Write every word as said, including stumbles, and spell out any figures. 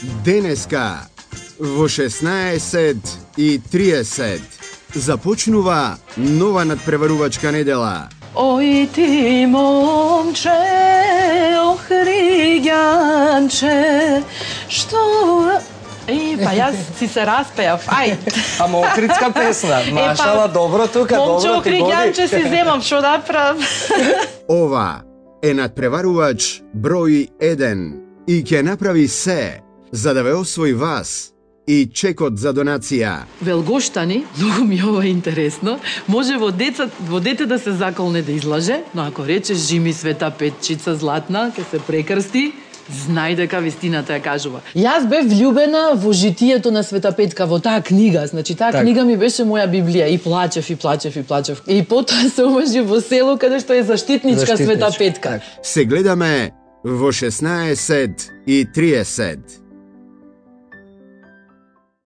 Денеска во шеснаесет и триесет започнува нова надпреварувачка недела. Ој ти момче, охриѓанче, што... Е, па јас си се распеав, ај. Ама охридска песна, машала, добро тука, добро ти момче, годи. охриѓанче си земам, што да правам? Ова е надпреварувач број еден и ќе направи се за да ве освои вас и чекот за донација. Велгоштани, многу ми е ова интересно, може во, деца, во дете да се заколне да излаже, но ако речеш жими Света Петчица златна, ќе се прекрсти, знај дека вистината ја кажува. Јас бев влюбена во житието на Света Петка, во таа книга. Значи, таа так. книга ми беше моја Библија. И плачев, и плачев, и плачев. И потоа се омажи во село, каде што е заштитничка, заштитничка. Света Петка. Се гледаме во шеснаесет и триесет.